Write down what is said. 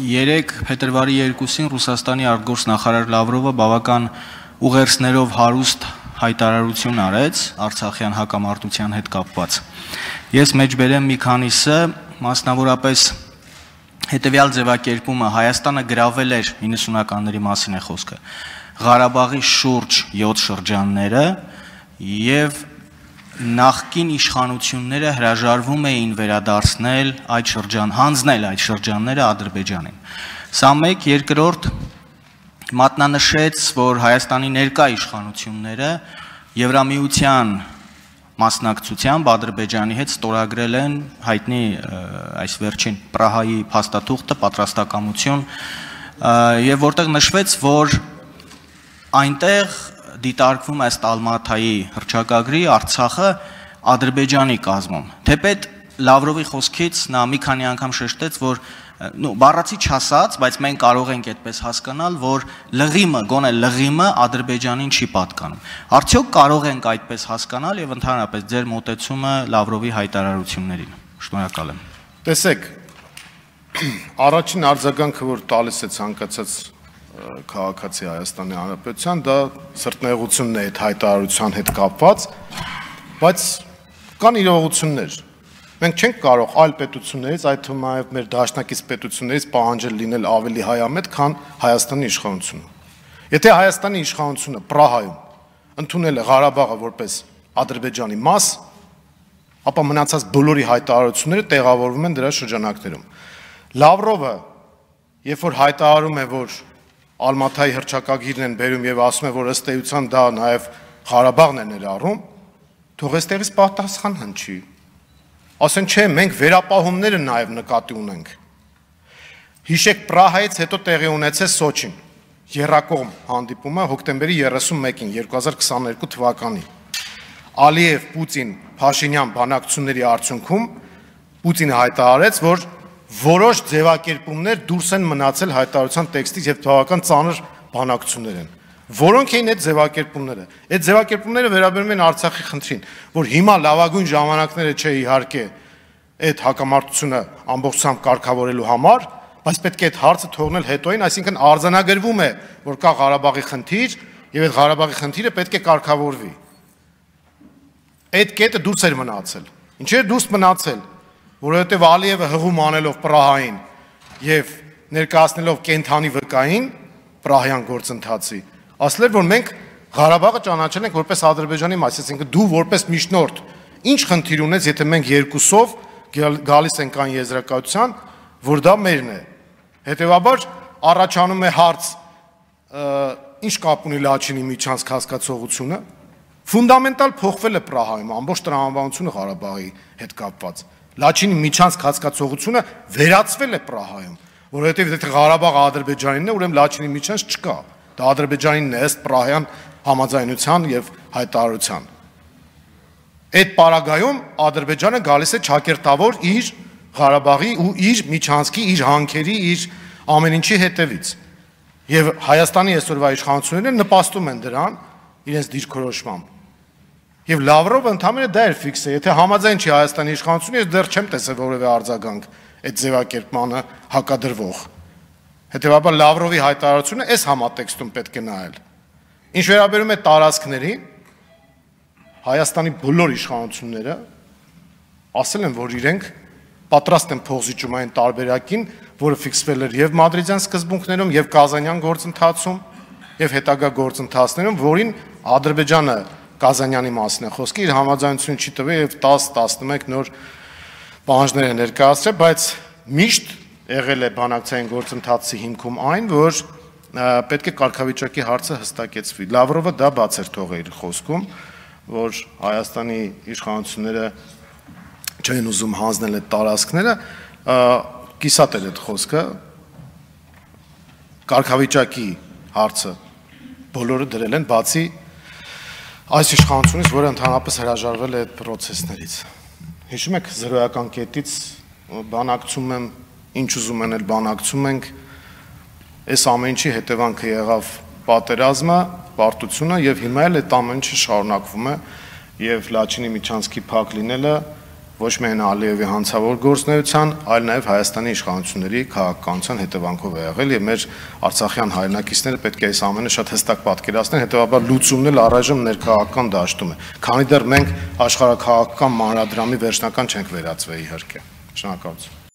Երեկ փետրվարի 2-ին Ռուսաստանի արտգործնախարար Լավրովը բավական ուղերձներով հարուստ հայտարարություն արեց Արցախյան հակամարտության հետ կապված։ Ես մեջբերեմ մի քանիսը, մասնավորապես հետևյալ ձևակերպումը Հայաստանը գրավել էր 90-ականների մասին է խոսքը։ Ղարաբաղի շուրջ 7 շրջանները եւ նախկին իշխանությունները հրաժարվում էին վերադարձնել այդ շրջան, հանձնել այդ շրջանները Ադրբեջանին։ Սա մեկ, երկրորդ մատնանշեց, որ Հայաստանի ներկա իշխանությունները Եվրամիության մասնակցությամբ Ադրբեջանի հետ ստորագրել են հայտնի այս վերջին Պրահայի փաստաթուղթը պատրաստակամություն եւ որտեղ նշվեց, որ այնտեղ դիտարկվում ըստ Ալմաթայի հռչակագրի Արցախը Ադրբեջանի կազմում։ Թեպետ Լավրովի խոսքից նա մի քանի անգամ շեշտեց, որ բառացի չասած, բայց մենք կարող ենք այդպես հասկանալ, որ լղիմը, գոնե լղիմը Ադրբեջանին չի պատկանում։ Արդյոք կարող ենք այդպես հասկանալ եւ ընդհանրապես ձեր մոտեցումը Լավրովի հայտարարություններին։ Շնորհակալ եմ։ Տեսեք, առաջին արձագանքը, որ տալիս է ցանկացած քաղաքացի Հայաստանի Հանրապետության, դա սրտնեղությունն է այդ հայտարարության հետ կապված, բայց կան իրողություններ։ Մենք չենք կարող այլ պետություններից, այդ թվում նաև մեր դաշնակից պետություններից պահանջել լինել ավելի հայամետ, քան Հայաստանի իշխանությունը։ Եթե Հայաստանի իշխանությունը Պրահայում ընդունել է Ղարաբաղը որպես Ադրբեջանի մաս, ապա մնացած բոլորի հայտարարությունները տեղավորվում են դրա շրջանակներում։ Լավրովը, երբ որ հայտարարում է, որ Ալմաթայի հռչակագիրն են բերում եւ ասում է, որ ըստ էության դա նաեւ Ղարաբաղն է ներառում, թող այստեղից պատասխան հնչի։ Ասեն չէ, մենք վերապահումները նաեւ նկատի ունենք։ Հիշեք, Պրահայից հետո տեղի ունեցեց Սոչին, երրակողմ հանդիպումը հոկտեմբերի 31-ին 2022 թվականին։ Ալիև, Պուտին, Փաշինյան բանակցությունների արդյունքում Պուտինը հայտարարեց, որ որոշ ձևակերպումներ դուրս են մնացել հայտարարության տեքստից եւ բավական ծանր բանակցություններ են։ Որոնք էին այդ ձևակերպումները։ Այդ ձևակերպումները վերաբերում են Արցախի խնդրին, որ հիմա լավագույն ժամանակները չէ իհարկե այդ հակամարտությունը ամբողջությամբ կարգավորելու համար, բայց պետք է այդ հարցը թողնել հետոին, այսինքն արձանագրվում է, որ կա Ղարաբաղի խնդիր եւ այդ Ղարաբաղի խնդիրը պետք է կարգավորվի։ Այդ կետը դուրս էր մնացել։ Ինչի՞ է դուրս մնացել, որովհետև Ալիևը հղում անելով Պրահային եւ ներկայացնելով կենթանի վկային Պրահյան գործընթացի, ասել էր, որ մենք Ղարաբաղը ճանաչել ենք որպես Ադրբեջանի մաս, այսինքն դու որպես միջնորդ ինչ խնդիր ունես, եթե մենք երկուսով գալիս ենք այն եզրակացության, որ դա մերն է։ Հետևաբար առաջանում է հարց, ինչ կապ ունի Լաչինի միջանցք հասկացողությունը, ֆունդամենտալ փոխվել է Պրահայում, ամբողջ տրամաբանությունը Ղարաբաղի հետ կապված։ Լաչինի միջանցք հասկացողությունը վերացվել է Պրահայում, որովհետև եթե Ղարաբաղը Ադրբեջանինն է, ուրեմն Լաչինի միջանց չկա։ Դա Ադրբեջանինն է ըստ Պրահյան համաձայնության եւ հայտարարության։ Այդ պարագայում Ադրբեջանը գալիս է ճակերտավոր իր Ղարաբաղի ու իր միջանցքի, իր հանքերի, իր ամեն ինչի հետևից։ Եվ Հայաստանի այսօրվա իշխանությունները նպաստում են դրան իրենց դիրքորոշմամբ։ Եվ Լավրովը ընդհանրապես դա էր ֆիքսը, եթե համաձայն չի Հայաստանի իշխանությունը, ես դեռ չեմ տեսել որևէ արձագանք այդ ձևակերպմանը հակադրվող։ Հետևաբար Լավրովի հայտարարությունը այս համատեքստում պետք է նայել։ Ինչ վերաբերում է տարածքներին, Հայաստանի բոլոր իշխանությունները ասել են, որ իրենք պատրաստ են փոխզիջումային տարբերակին, որը ֆիքսվել էր եւ մադրիդյան սկզբունքներում, եւ կազանյան գործընթացում, եւ հետագա գործընթացներում, որին Ադրբեջանը Կազանյանի մասին է խոսքը, իր համաձայնություն չի տվել եւ 10-11 նոր պահանջներ է ներկայացրել, բայց միշտ եղել է բանակցային գործընթացի հիմքում այն, որ պետք է կարգավիճակի հարցը հստակեցվի։ Լավրովը դա բաց էր թողել իր խոսքում, որ Հայաստանի իշխանությունները չեն ուզում հանձնել այդ տարածքները, կիսատ էր այդ խոսքը, կարգավիճակի հարցը բոլորը դրել են, բացի այս իշխանությունից, որը ընդհանրապես հրաժարվել է այդ պրոցեսներից։ Հիշում եք զրոյական կետից բանակցում եմ, ինչ ուզում են էլ բանակցում ենք, այս ամեն ինչի հետևանքը եղավ պատերազմը, պարտությունը եւ հիմա էլ այդ ամեն ինչը շարունակվում է եւ Լաչինի միջանցքի փակ լինելը ոչ միայն Ալիևի հանցավոր գործունեության, այլ նաև Հայաստանի իշխանությունների քաղաքականության հետևանքով է եղել եւ մեր արցախյան հայրենակիցները պետք է այս ամենը շատ հստակ պատկերացնեն, հետեւաբար լուծումն էլ առայժմ ներքաղաքական դաշտում է։ Քանի դեռ մենք աշխարհաքաղաքական մանրադրամի վերջնական չենք վերածվել իհարկե։ Շնորհակալություն։